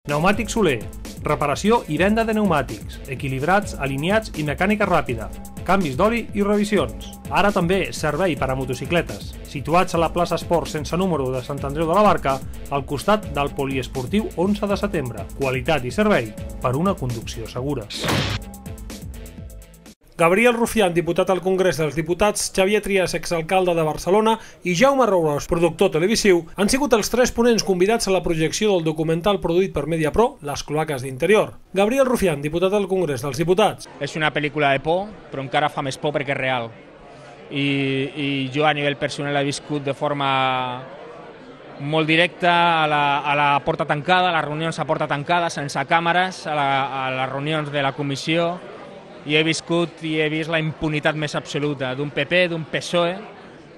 Pneumàtics Soler. Reparació i venda de pneumàtics, equilibrats, alineats i mecànica ràpida, canvis d'oli i revisions. Ara també servei per a motocicletes, situats a la plaça Esport sense número de Sant Andreu de la Barca, al costat del poliesportiu 11 de setembre. Qualitat i servei per una conducció segura. Gabriel Rufián, diputat al Congrés dels Diputats, Xavier Trias, exalcalde de Barcelona, i Jaume Roures, productor televisiu, han sigut els tres ponents convidats a la projecció del documental produït per Mediapro, Les cloaques d'interior. Gabriel Rufián, diputat al Congrés dels Diputats. És una pel·lícula de por, però encara fa més por perquè és real. I jo a nivell personal he viscut de forma molt directa a la porta tancada, a les reunions a porta tancada, sense càmeres, a les reunions de la comissió, i he viscut i he vist la impunitat més absoluta d'un PP, d'un PSOE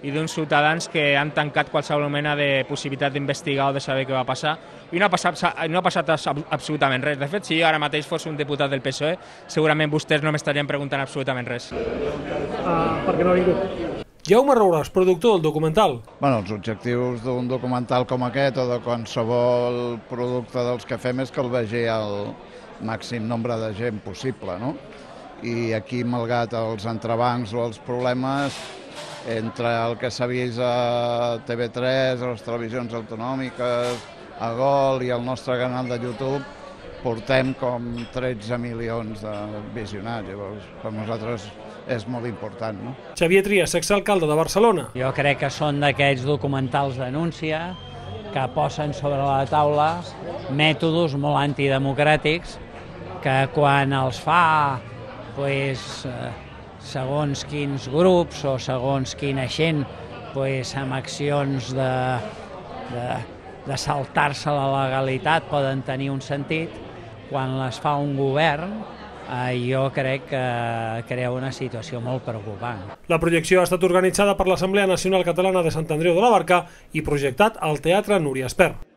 i d'uns ciutadans que han tancat qualsevol mena de possibilitat d'investigar o de saber què va passar. I no ha passat absolutament res. De fet, si jo ara mateix fos un diputat del PSOE, segurament vostès no m'estarien preguntant absolutament res. Per què no ha vingut? Jaume Roures, productor del documental. Els objectius d'un documental com aquest o de qualsevol producte dels que fem és que el vegi el màxim nombre de gent possible, no? I aquí, malgrat els entrebancs o els problemes, entre el que s'ha vist a TV3, a les televisions autonòmiques, a Gol i al nostre canal de YouTube, portem com 13 milions de visionats. Llavors, per nosaltres és molt important, no? Xavier Trias, exalcalde de Barcelona. Jo crec que són d'aquests documentals denúncia que posen sobre la taula mètodes molt antidemocràtics que quan els fa segons quins grups o segons quina gent amb accions de saltar-se la legalitat poden tenir un sentit. Quan les fa un govern, jo crec que crea una situació molt preocupant. La projecció ha estat organitzada per l'Assemblea Nacional Catalana de Sant Andreu de la Barca i projectat al Teatre Núria Espert.